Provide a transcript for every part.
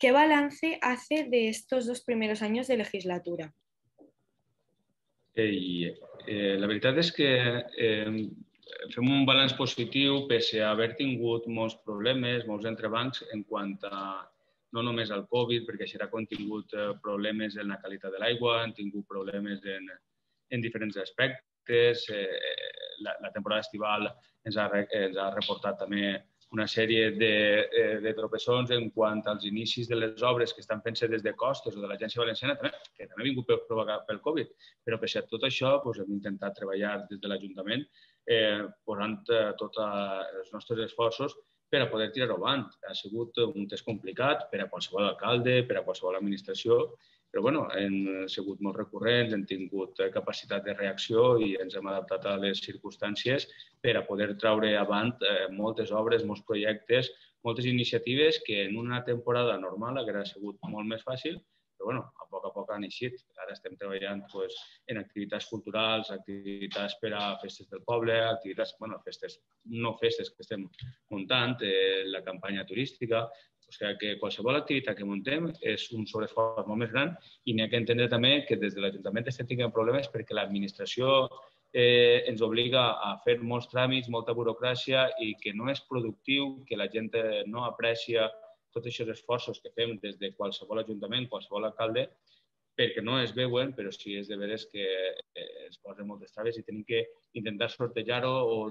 ¿qué balance hace de estos 2 primeros años de legislatura? La veritat és que fem un balanç positiu pese a haver tingut molts problemes, molts entrebancs en quant a no només al Covid, perquè això ha contingut problemes en la qualitat de l'aigua, han tingut problemes en diferents aspectes. La temporada estival ens ha reportat també una sèrie de tropeçons en quant als inicis de les obres que estan fent-se des de Costes o de l'Agència Valenciana, que també ha vingut provocat pel Covid. Però, pese a tot això, hem intentat treballar des de l'Ajuntament posant tots els nostres esforços per a poder tirar-ho avant. Ha sigut un test complicat per a qualsevol alcalde, per a qualsevol administració, però hem sigut molt recurrents, hem tingut capacitat de reacció i ens hem adaptat a les circumstàncies per a poder treure avant moltes obres, molts projectes, moltes iniciatives que en una temporada normal hauria sigut molt més fàcil, però a poc han eixit. Ara estem treballant en activitats culturals, activitats per a festes del poble, activitats, festes, no festes que estem muntant, la campanya turística. O sigui que qualsevol activitat que muntem és un sobreesforç molt més gran i n'hi ha que entendre també que des de l'Ajuntament estem tenint problemes perquè l'administració ens obliga a fer molts tràmits, molta burocràcia i que no és productiu, que la gent no aprecia tots aquests esforços que fem des de qualsevol ajuntament, qualsevol alcalde, perquè no es veuen, però sí és de veres que es posen moltes traves i tenim que intentar sortejar-ho o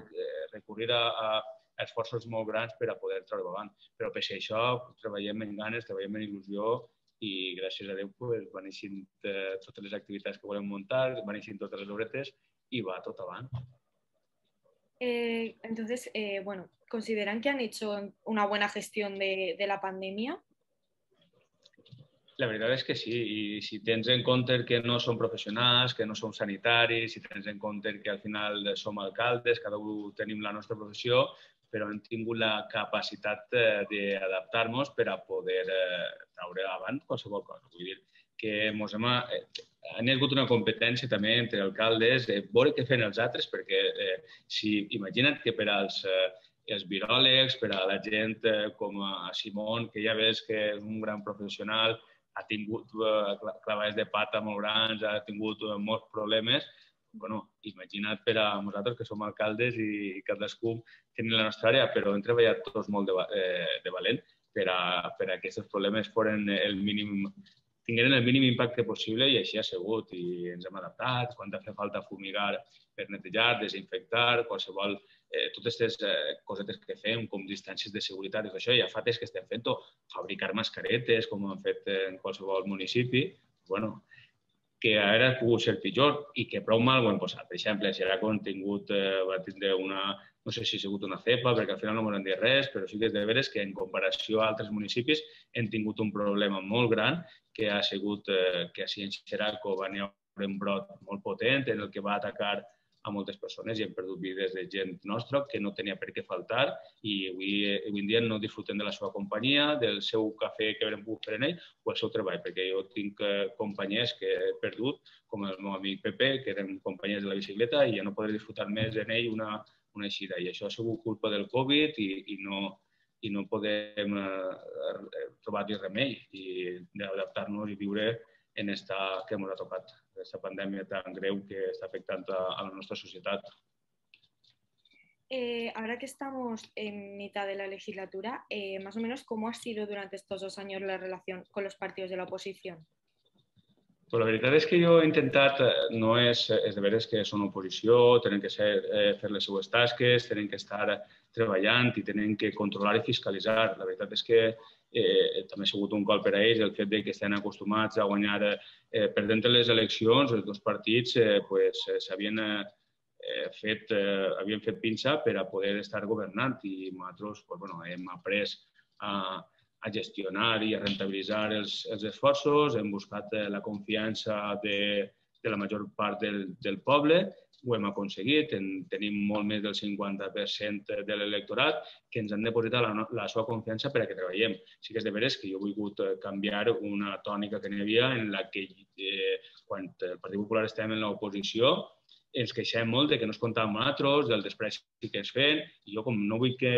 recurrir a esforços molt grans per a poder treure avant. Però pese a això treballem en ganes, treballem en il·lusió i gràcies a Déu van eixint totes les activitats que volem muntar, van eixint totes les obretes y va todo avant. Entonces, ¿consideran que han hecho una buena gestión de la pandemia? La veritat és que sí, i si tens en compte que no som professionals, que no som sanitaris, si tens en compte que al final som alcaldes, cada un tenim la nostra professió, però hem tingut la capacitat d'adaptar-nos per a poder treure avant qualsevol cosa. Vull dir que han hagut una competència també entre alcaldes de veure què fan els altres, perquè imagina't que per als viròlegs, per a la gent com a Simón, que ja ves que és un gran professional, ha tingut clavades de pata molt grans, ha tingut molts problemes. Imagina't per a nosaltres que som alcaldes i cadascú tenim la nostra àrea, però hem treballat tots molt de valent per a que aquests problemes tingueren el mínim impacte possible i així ha sigut. I ens hem adaptat, quan ha fet falta fumigar per netejar, desinfectar, qualsevol, totes aquestes cosetes que fem, com distàncies de seguretat i tot això, ja fa temps que estem fent-ho, fabricar mascaretes, com hem fet en qualsevol municipi, que ara ha pogut ser pitjor i que prou mal ho hem posat. Per exemple, si ara va tindre no sé si ha sigut una cepa, perquè al final no m'han dit res, però sí que és de veres que en comparació a altres municipis hem tingut un problema molt gran, que ha sigut que així en Xeraco va haver un brot molt potent en el que va atacar a moltes persones i hem perdut vides de gent nostra que no tenia per què faltar i avui en dia no disfrutem de la seva companyia, del seu cafè que haurem pogut fer en ell o el seu treball, perquè jo tinc companyies que he perdut, com el meu amic Pepe, que eren companyies de la bicicleta i ja no podré disfrutar més en ell una eixida. I això ha sigut culpa del Covid i no podem trobar-hi remei i d'adaptar-nos i viure en esta que ens ha tocat, aquesta pandèmia tan greu que està afectant a la nostra societat. Ahora que estamos en mitad de la legislatura, más o menos, ¿cómo ha sido durante estos 2 años la relación con los partidos de la oposición? Pues la veritat és que jo he intentat, no és de veres que són oposició, tenen que fer les seues tasques, tenen que estar treballant i tenen que controlar i fiscalitzar. La veritat és que també ha sigut un cop per a ells el fet que estan acostumats a guanyar perdent les eleccions, els dos partits s'havien fet pinça per a poder estar governant i nosaltres hem après a gestionar i a rentabilitzar els esforços, hem buscat la confiança de la major part del poble, ho hem aconseguit, tenim molt més del 50% de l'electorat que ens han depositat la seva confiança per a que treballem. Sí que és de veres que jo he volgut canviar una tònica que n'hi havia en la que quan el Partit Popular estàvem en l'oposició ens queixem molt de que no es comptava amb nosaltres, del despreci que ens feien, i jo com no vull que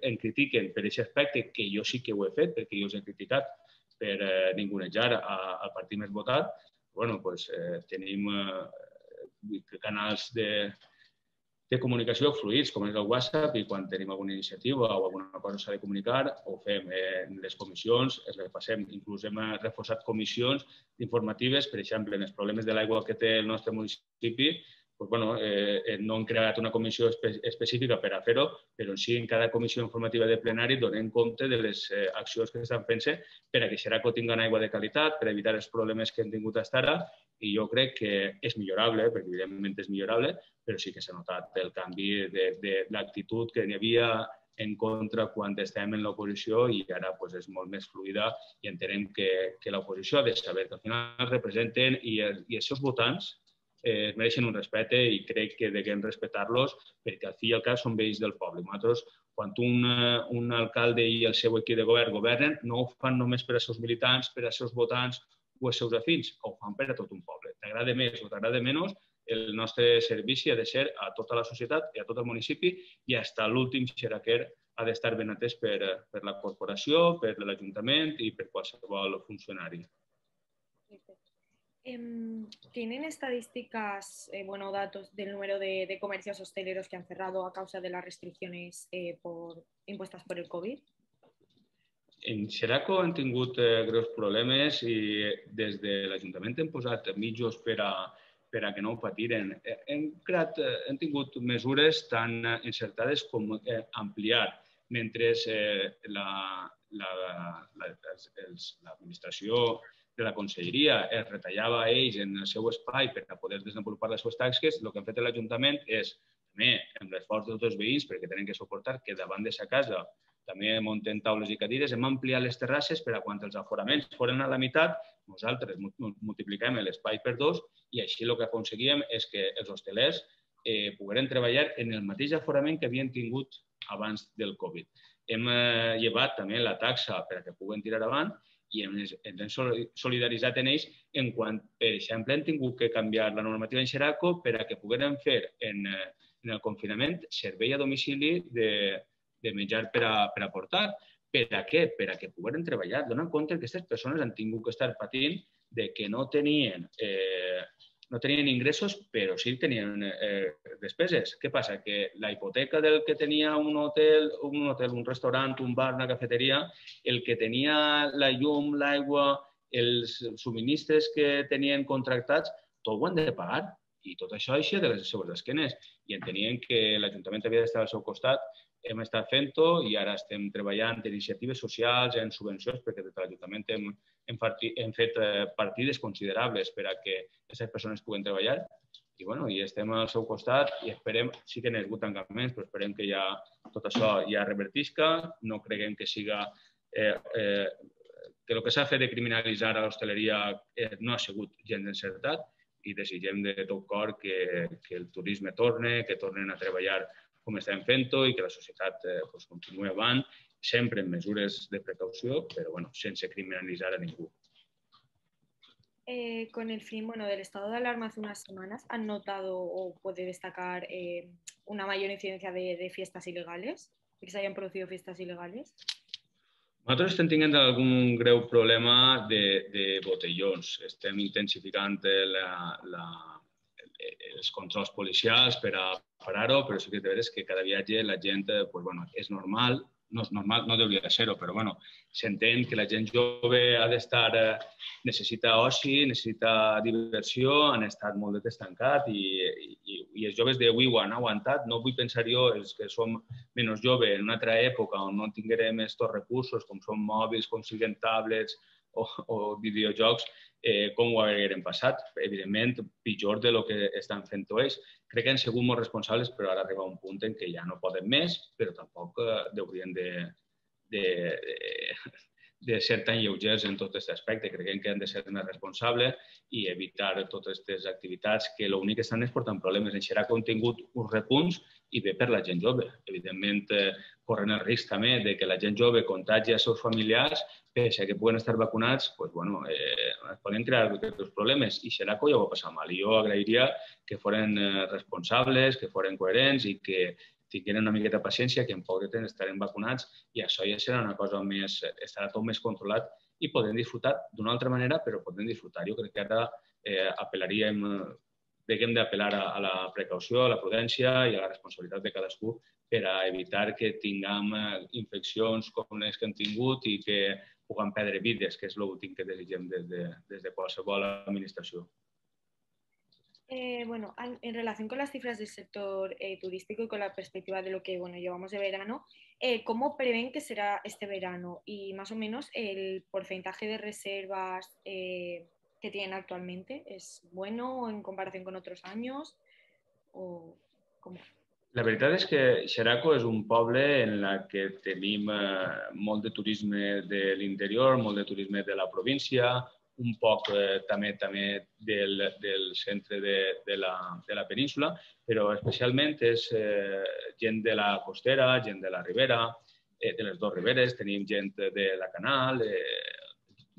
em critiquen per aquest aspecte, que jo sí que ho he fet, perquè jo us he criticat per ningunejar al partit més votat, tenim canals de comunicació fluïts, com és el WhatsApp, i quan tenim alguna iniciativa o alguna cosa s'ha de comunicar, ho fem en les comissions, es repassem. Inclús hem reforçat comissions informatives, per exemple, en els problemes de l'aigua que té el nostre municipi, no hem creat una comissió específica per a fer-ho, però sí en cada comissió informativa de plenari donem compte de les accions que s'estan fent-se per a que Xeraco tingui aigua de qualitat, per evitar els problemes que hem tingut fins ara, i jo crec que és millorable, perquè evidentment és millorable, però sí que s'ha notat el canvi de l'actitud que n'hi havia en contra quan estem en l'oposició i ara és molt més fluida i entenem que l'oposició ha de saber que al final representen i els seus votants es mereixen un respecte i crec que deguem respectar-los perquè al fi i al cap són veïns del poble. Nosaltres, quan un alcalde i el seu equip de govern governen, no ho fan només per als seus militants, per als seus votants o els seus afins, ho fan per a tot un poble. T'agrada més o t'agrada menys, el nostre servici ha de ser a tota la societat i a tot el municipi i fins a l'últim xeraquer ha d'estar ben atès per la corporació, per l'Ajuntament i per qualsevol funcionari. ¿Tienen estadísticas o datos del número de comercios hosteleros que han cerrado a causa de las restricciones impuestas por el COVID? En Xeraco han tingut greus problemes i des de l'Ajuntament hem posat mitjos per a que no ho patiren. Hem tingut mesures tan encertades com ampliar mentre l'administració de la conselleria es retallava a ells en el seu espai per a poder desenvolupar les seves tasques, el que han fet l'Ajuntament és, també amb l'esforç de tots els veïns, perquè tenen que suportar que davant de sa casa també munten taules i cadires, hem ampliat les terrasses per a quan els aforaments foren a la meitat, nosaltres multipliquem l'espai per 2 i així el que aconseguíem és que els hostelers pogueren treballar en el mateix aforament que havien tingut abans del Covid. Hem llevat també la taxa per a que puguen tirar avant i ens hem solidaritzat en ells en quan, per exemple, hem tingut que canviar la normativa en Xeraco per a que pogueren fer en el confinament servei a domicili de menjar per a portar. Per a què? Per a que pogueren treballar. Donen compte que aquestes persones han tingut que estar patint de que no tenien ingressos, però sí tenien despeses. Què passa? Que la hipoteca del que tenia un hotel, un restaurant, un bar, una cafeteria, el que tenia la llum, l'aigua, els subministres que tenien contractats, tot ho han de pagar. I tot això així de les seves esquenes. I entenien que l'Ajuntament havia d'estar al seu costat. Hem estat fent-ho i ara estem treballant en iniciatives socials, en subvencions, perquè des de l'Ajuntament hem fet partides considerables per a que aquestes persones puguen treballar i estem al seu costat i esperem, sí que n'hi ha hagut tancaments, però esperem que tot això ja revertisca, no creguem que siga que el que s'ha fet de criminalitzar a l'hostaleria no ha sigut gens encertat i desitgem de tot cor que el turisme torni, que tornen a treballar com estem fent-ho i que la societat continuï avant, sempre amb mesures de precaució, però sense criminalitzar a ningú. Con el fin del estado de alarma hace unas semanas, ¿han notado o puede destacar una mayor incidencia de fiestas ilegales? ¿Que se hayan producido fiestas ilegales? Nosaltres estem tenint algun greu problema de botellons. Estem intensificant els controls policials per a parar-ho, però sí que és veritat que cada viatge la gent és normal, no hauria de ser-ho, però s'entén que la gent jove ha d'estar, necessita oci, necessita diversió, han estat molt de temps tancats i els joves d'avui ho han aguantat. No vull pensar jo, els que som menys joves, en una altra època on no tinguérem aquests recursos, com són mòbils, com siguin tablets o videojocs, com ho hagueren passat. Evidentment, pitjor del que estan fent ells. Crec que han sigut molt responsables, però ara arriba un punt en què ja no poden més, però tampoc haurien de ser tan lleugers en tot aquest aspecte. Creiem que han de ser més responsables i evitar totes aquestes activitats que l'únic que estan és portant problemes. En Xeraco han tingut uns repunts i bé per la gent jove. Evidentment, corren el risc també de que la gent jove contagi els seus familiars, pese a que puguen estar vacunats, pues, bueno, es poden crear aquests problemes i Xeraco ja ho va passar mal. I jo agrairia que foren responsables, que foren coherents i que tingueren una miqueta de paciència, que en poc de temps estarem vacunats i això ja serà una cosa més, estarà tot més controlat i podem disfrutar d'una altra manera, però podem disfrutar. Jo crec que ara apel·laríem, haguem d'apel·lar a la precaució, a la prudència i a la responsabilitat de cadascú per a evitar que tinguem infeccions com les que hem tingut i que puguem perdre vides, que és l'últim que desitgem des de qualsevol administració. Bueno, en relación con las cifras del sector turístico y con la perspectiva de lo que llevamos de verano, ¿cómo prevén que será este verano? Y más o menos el porcentaje de reservas que tienen actualmente, ¿es bueno en comparación con otros años? ¿O cómo? La veritat és que Xeraco és un poble en la que tenim molt de turisme de l'interior, molt de turisme de la província, un poc també del centre de la península, però especialment és gent de la costera, gent de la ribera, de les dues riberes, tenim gent de la Canal,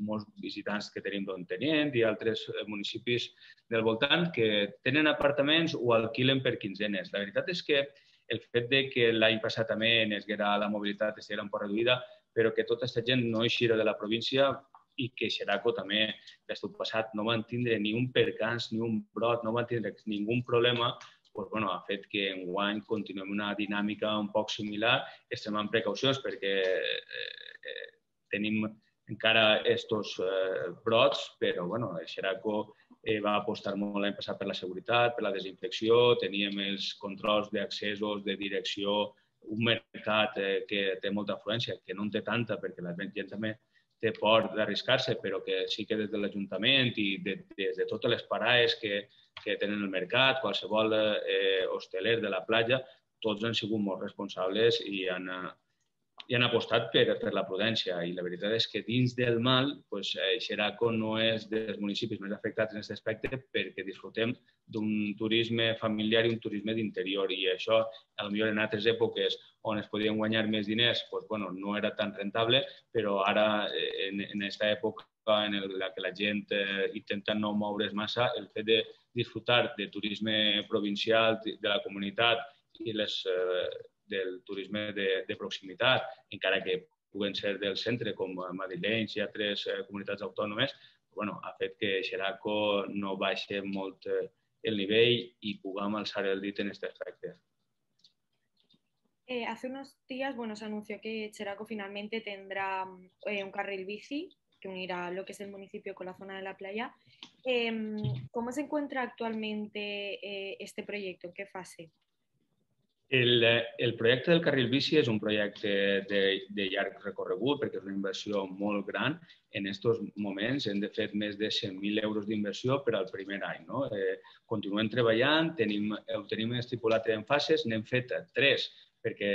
molts visitants que tenim d'Ontinyent i altres municipis del voltant que tenen apartaments o alquilen per quinzenes. La veritat és que el fet de que l'any passat també la mobilitat estiguera un poc reduïda, però que tota aquesta gent no eixira de la província i que Xeraco també l'estiu passat no van tindre ni un percans ni un brot, no van tindre ningú problema, doncs, bueno, ha fet que enguany continuem una dinàmica un poc similar, extremant precaucions perquè tenim encara estos brots, però bueno, Xeraco va apostar molt l'any passat per la seguretat, per la desinfecció, teníem els controls d'accessos, de direcció, un mercat que té molta afluència, que no en té tanta perquè la gent també té por d'arriscar-se, però que sí que des de l'Ajuntament i des de totes les parades que tenen el mercat, qualsevol hosteler de la platja, tots han sigut molt responsables i han apostat per la prudència. I la veritat és que dins del mal, Xeraco no és dels municipis més afectats en aquest aspecte perquè disfrutem d'un turisme familiar i un turisme d'interior. I això, potser en altres èpoques on es podien guanyar més diners, no era tan rentable, però ara, en aquesta època en la que la gent intenta no moure's massa, el fet de disfrutar de turisme provincial de la comunitat i del turisme de proximitat, encara que puguen ser del centre, com madrilenys i altres comunitats autònomes, ha fet que Xeraco no baixi molt el nivell i puguem alçar el dit en aquest aspecte. Hace unos días, se anunció que Xeraco finalmente tendrá un carril bici que unirá lo que es el municipio con la zona de la playa. ¿Cómo se encuentra actualmente este proyecto? ¿En qué fase? El projecte del carril bici és un projecte de llarg recorregut perquè és una inversió molt gran. En aquests moments hem fet més de 100.000 euros d'inversió per al primer any. Continuem treballant, ho tenim estipulat en fases, n'hem fet 3 perquè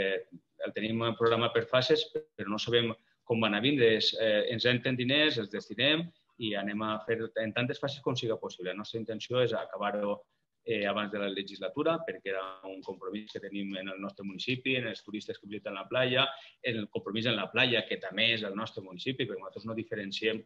el tenim programat per fases, però no sabem com van a vindre. Ens entren diners, els destinem i anem a fer en tantes fases com sigui possible. La nostra intenció és acabar-ho abans de la legislatura, perquè era un compromís que tenim en el nostre municipi, en els turistes que visiten la platja, el compromís en la platja, que també és el nostre municipi, perquè nosaltres no diferenciem,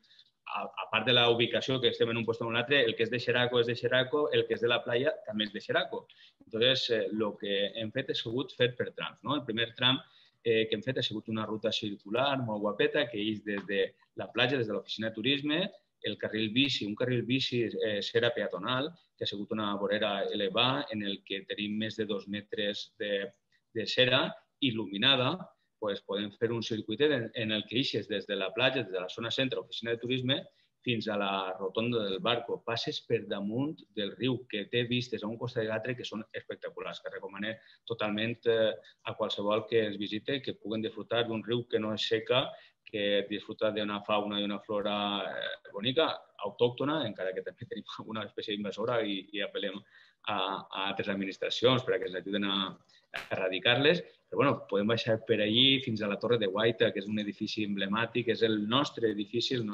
a part de la ubicació que estem en un lloc o en un altre, el que és de Xeraco és de Xeraco, el que és de la platja també és de Xeraco. Llavors, el que hem fet ha sigut fer per trams. El primer tram que hem fet ha sigut una ruta circular molt guapeta que eix des de la platja, des de l'oficina de turisme, el carril bici, un carril bici cera peatonal, que ha sigut una vorera elevada en el que tenim més de 2 metres de cera il·luminada. Podem fer un circuit en el que eixes des de la platja, des de la zona centre, l'oficina de turisme, fins a la rotonda del barco. Passes per damunt del riu, que té vistes a un costat i l'altre que són espectaculars, que recomanem totalment a qualsevol que ens visite que puguen disfrutar d'un riu que no és seca, que disfruta d'una fauna i una flora bonica, autòctona, encara que també tenim una espècie invasora i apel·lem a altres administracions perquè ens ajuden a erradicar-les. Però podem baixar per allí fins a la Torre de Guaita, que és un edifici emblemàtic, és el nostre edifici, el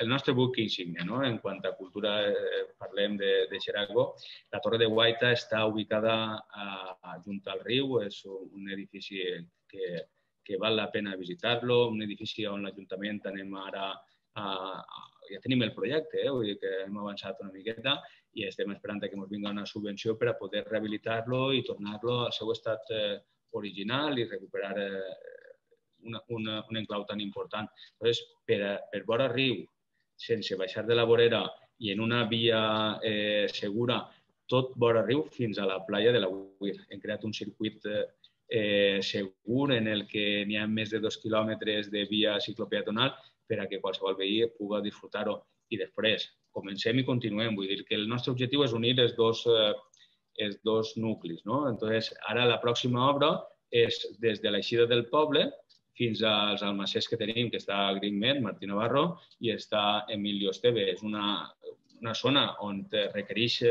nostre buc insígnia. En quant a cultura parlem de Xeraco. La Torre de Guaita està ubicada junt al riu, és un edifici que que val la pena visitar-lo, un edifici on l'Ajuntament anem ara ja tenim el projecte, vull dir que hem avançat una miqueta i estem esperant que ens vingui una subvenció per a poder rehabilitar-lo i tornar-lo al seu estat original i recuperar un enclau tan important. Llavors, per vora riu, sense baixar de la vorera i en una via segura, tot vora riu fins a la platja de l'Agüir. Hem creat un circuit segur en el que n'hi ha més de 2 quilòmetres de via ciclopeatonal per a que qualsevol veí pugui disfrutar-ho. I després, comencem i continuem. Vull dir que el nostre objectiu és unir els dos nuclis. Entonces, ara la pròxima obra és des de l'eixida del poble fins als almacers que tenim, que està a Greenmet, Martí Navarro, i està Emilio Esteve. És una zona on requereix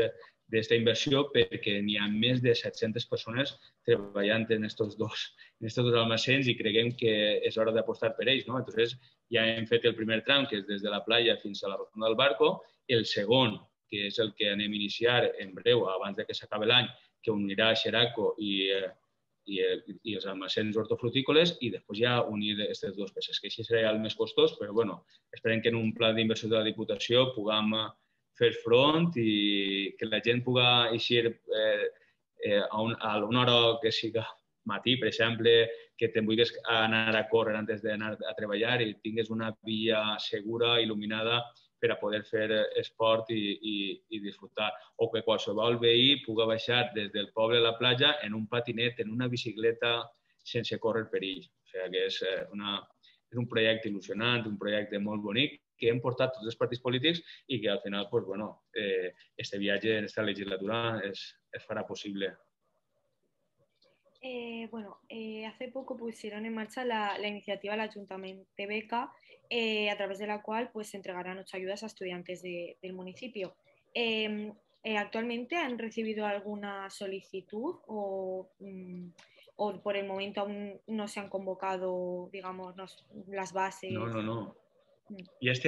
d'aquesta inversió perquè n'hi ha més de 700 persones treballant en aquests dos almacens i creguem que és hora d'apostar per ells. Entonces, ja hem fet el primer tram, que és des de la platja fins a la rotonda del Barco, el segon, que és el que anem a iniciar en breu, abans que s'acabi l'any, que unirà Xeraco i els almacens hortofrutícoles i després ja unir aquestes dues peces, que així serà el més costós, però esperem que en un pla d'inversió de la Diputació puguem fer front i que la gent pugui eixir a una hora que siga matí, per exemple, que te'n vulguis anar a córrer antes d'anar a treballar i tinguis una via segura, il·luminada, per a poder fer esport i disfrutar. O que qualsevol veí pugui baixar des del poble a la platja en un patinet, en una bicicleta, sense córrer perill. O sigui que és un projecte il·lusionant, un projecte molt bonic, que hem portat tots els partits polítics i que al final, este viatge en esta legislatura es farà possible. Hace poco pusieron en marcha la iniciativa del Ayuntamiento de Beca, a través de la cual se entregarán 8 ayudas a estudiantes del municipio. ¿Actualmente han recibido alguna solicitud o por el momento aún no se han convocado, digamos, las bases? No. Ja els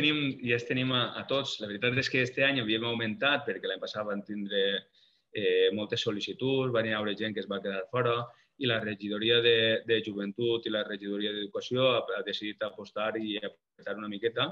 tenim a tots. La veritat és que aquest any havíem augmentat perquè l'any passat van tindre moltes sol·licituds, van haver gent que es va quedar fora i la regidoria de Joventut i la regidoria d'Educació ha decidit apostar i apretar una miqueta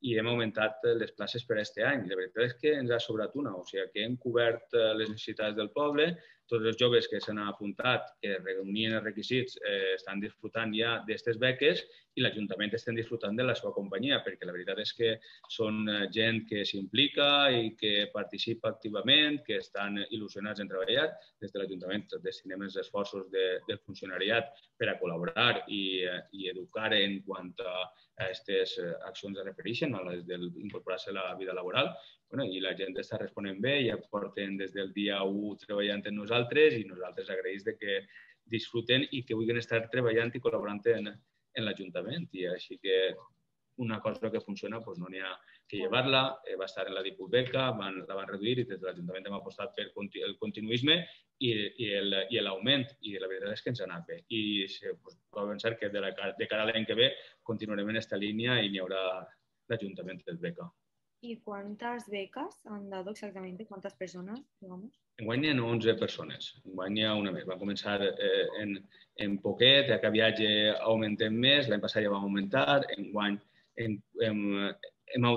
i hem augmentat les places per aquest any. La veritat és que ens ha sobrat una, o sigui que hem cobert les necessitats del poble, tots els joves que s'han apuntat, que reunien els requisits, estan disfrutant ja d'aquestes beques i l'Ajuntament estem disfrutant de la seva companyia, perquè la veritat és que són gent que s'implica i que participa activament, que estan il·lusionats en treballar. Des de l'Ajuntament destinem els esforços del funcionariat per a col·laborar i educar en quant a aquestes accions es refereixen, a les d'incorporar-se a la vida laboral. I la gent està responent bé, ja porten des del dia 1 treballant amb nosaltres i nosaltres agraïts que disfruten i que vulguin estar treballant i col·laborant en l'Ajuntament. I així que una cosa que funciona no n'hi ha que llevar-la. Va estar en la Diputbeca, la van reduir i des de l'Ajuntament hem apostat per el continuisme i l'augment. I la veritat és que ens ha anat bé. I puc pensar que de cara a l'any que ve continuarem en aquesta línia i n'hi haurà l'Ajuntament de Beca. ¿Y cuántas becas han dado exactamente? ¿Cuántas personas, digamos? Enguany hi ha 11 persones. Enguany hi ha una més. Va començar en poquet, a cada viatge augmentem més, l'any passat ja vam augmentar, enguany hem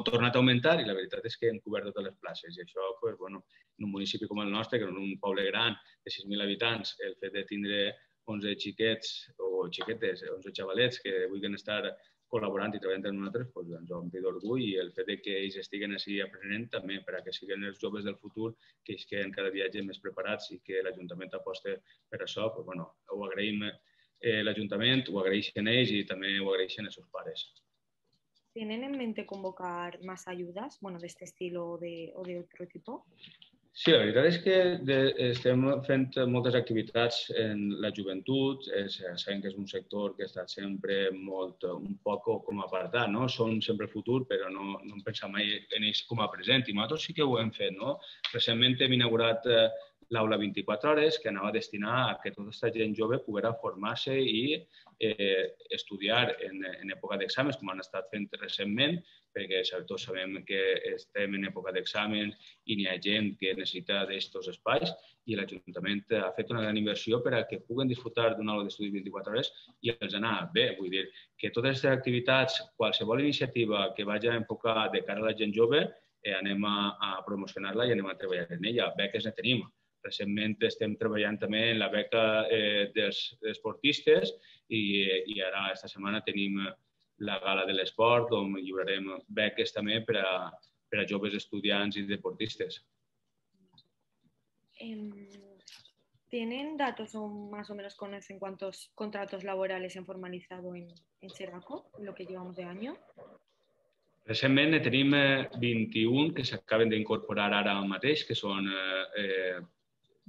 tornat a augmentar i la veritat és que hem cobert totes les places. I això, en un municipi com el nostre, que en un poble gran de 6.000 habitants, el fet de tindre 11 xiquets o xiquetes, 11 xavalets que vulguin estar col·laborant i treballant amb nosaltres, ens ompli d'orgull i el fet que ells estiguen així aprenent també per a que siguin els joves del futur que ells queden cada viatge més preparats i que l'Ajuntament aposta per això. Ho agraïm l'Ajuntament, ho agraeixen ells i també ho agraeixen els seus pares. ¿Tienen en mente convocar más ayudas, de este estilo o de otro tipo? Sí, la veritat és que estem fent moltes activitats en la joventut. Sabem que és un sector que ha estat sempre un poc com apartat, no? Són sempre el futur, però no hem pensat mai en ells com a present. I nosaltres sí que ho hem fet, no? Recentment hem inaugurat l'aula 24 hores, que anava a destinar a que tota aquesta gent jove poguera formar-se i estudiar en època d'exàmens, com han estat fent recentment, perquè tots sabem que estem en època d'exàmens i n'hi ha gent que necessita d'aquests espais i l'Ajuntament ha fet una gran inversió per a que puguen disfrutar d'una aula d'estudi 24 hores i els anar bé. Vull dir que totes aquestes activitats, qualsevol iniciativa que vagi a enfocar de cara a la gent jove, anem a promocionar-la i anem a treballar en ella. Beques ne tenim. Recentment estem treballant també en la beca dels esportistes i ara esta setmana tenim la gala de l'esport on lliurarem beques també per a joves estudiants y deportistas. ¿Tienen datos o más o menos conocen cuántos contratos laborales se han formalizado en Xeraco en lo que llevamos de año? Recentment ne tenim 21 que s'acaben d'incorporar ara mateix, que són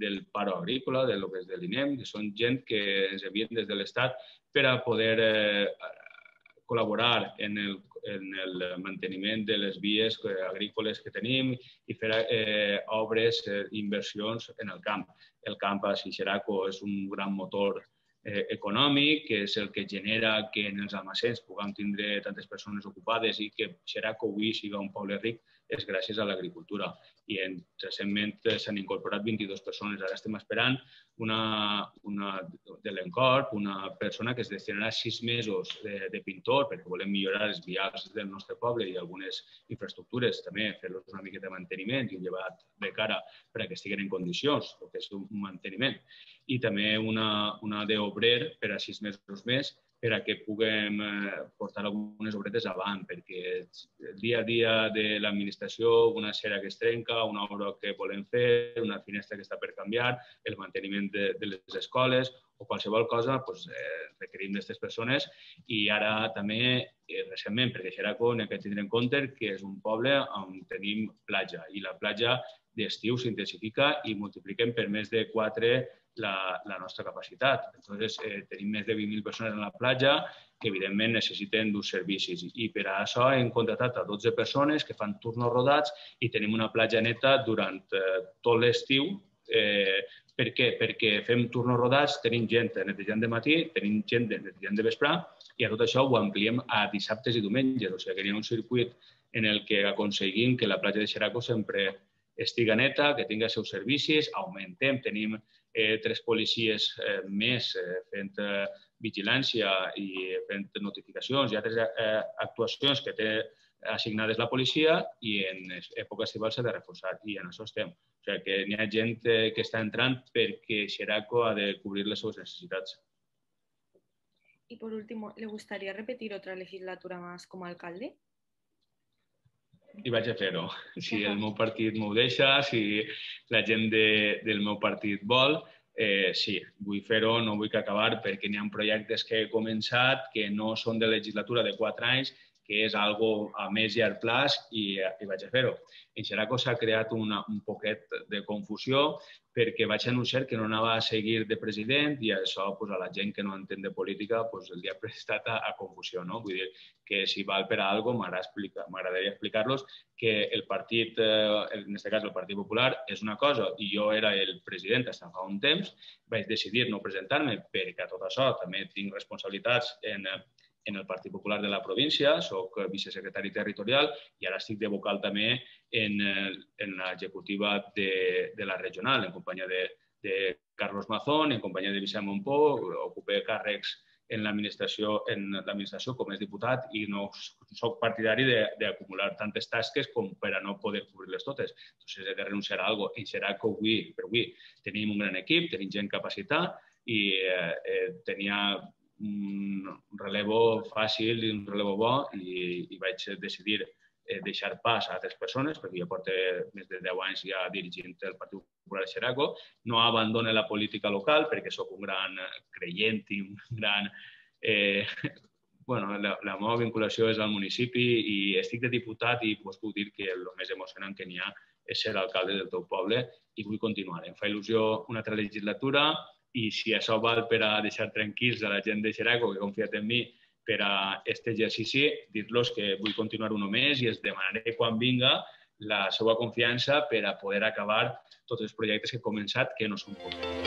del paro agrícola, de lo que és de l'INEM, que són gent que ens envien des de l'Estat per a poder col·laborar en el manteniment de les vies agrícoles que tenim i fer obres, inversions en el camp. El camp a Xeraco és un gran motor econòmic, que és el que genera que en els almacens puguem tindre tantes persones ocupades i que Xeraco avui sigui un poble ric és gràcies a l'agricultura. I recentment s'han incorporat 22 persones. Ara estem esperant de l'Encorp, una persona que es destinarà 6 mesos de pintor perquè volem millorar els vials del nostre poble i algunes infraestructures, també fer-los una miqueta de manteniment i un llevat de cara perquè estiguin en condicions, el que és un manteniment. I també una d'obrer per a 6 mesos més per a que puguem portar algunes obretes avant, perquè el dia a dia de l'administració, una cera que es trenca, una obra que volem fer, una finestra que està per canviar, el manteniment de les escoles o qualsevol cosa, requerim d'aquestes persones. I ara també, recentment, perquè Xeraco n'hem de tindre en compte que és un poble on tenim platja i la platja d'estiu s'intensifica i multipliquem per més de 4 la nostra capacitat. Entonces, tenim més de 20.000 persones en la platja que, evidentment, necessiten d'uns servicis. I per a això hem contractat a 12 persones que fan turnos rodats i tenim una platja neta durant tot l'estiu. Per què? Perquè fem turnos rodats, tenim gent netejant de matí, tenim gent netejant de vespre i a tot això ho ampliem a dissabtes i diumenges. O sigui que hi ha un circuit en el que aconseguim que la platja de Xeraco sempre estiga neta, que tingui els seus servicis, augmentem, tenim 3 policies més fent vigilància i fent notificacions i altres actuacions que té assignades la policia i en època estival s'ha de reforçar i en això estem. O sigui que hi ha gent que està entrant perquè Xeraco ha de cobrir les seves necessitats. Y por último, ¿le gustaría repetir otra legislatura más como alcalde? I vaig a fer-ho. Si el meu partit m'ho deixa, si la gent del meu partit vol, sí, vull fer-ho, no vull acabar perquè n'hi ha projectes que he començat que no són de legislatura de 4 anys, que és algo a més llarg plaç i vaig a fer-ho. En Xeraco s'ha creat un poquet de confusió perquè vaig anunciar que no anava a seguir de president i això a la gent que no entén de política li ha prestat a confusió. Vull dir que si val per a alguna cosa m'agradaria explicar-los que el partit, en aquest cas el Partit Popular, és una cosa i jo era el president fins fa un temps, vaig decidir no presentar-me perquè a tot això també tinc responsabilitats en el Partit Popular de la província, soc vicesecretari territorial i ara estic de vocal també en l'executiva de la regional, en companyia de Carlos Mazón, en companyia de Vicent Montpó, ocupé càrrecs en l'administració com és diputat i no soc partidari d'acumular tantes tasques com per a no poder cobrir-les totes. Entonces he de renunciar a alguna cosa. En Xeraco, avui tenim un gran equip, tenim gent capacitada i tenia un relevo fàcil i un relevo bo i vaig decidir deixar pas a altres persones perquè jo porto més de 10 anys ja dirigint el Partit Popular de Xeraco. No abandone la política local perquè sóc un gran creient i un gran... La meva vinculació és al municipi i estic de diputat i puc dir que el més emocionant que n'hi ha és ser alcalde del teu poble i vull continuar. Em fa il·lusió una altra legislatura i si això val per a deixar tranquils a la gent de Xeraco que ha confiat en mi per a aquest exercici, dir-los que vull continuar un més i els demanaré quan vinga la seva confiança per a poder acabar tots els projectes que he començat, que no són pocs.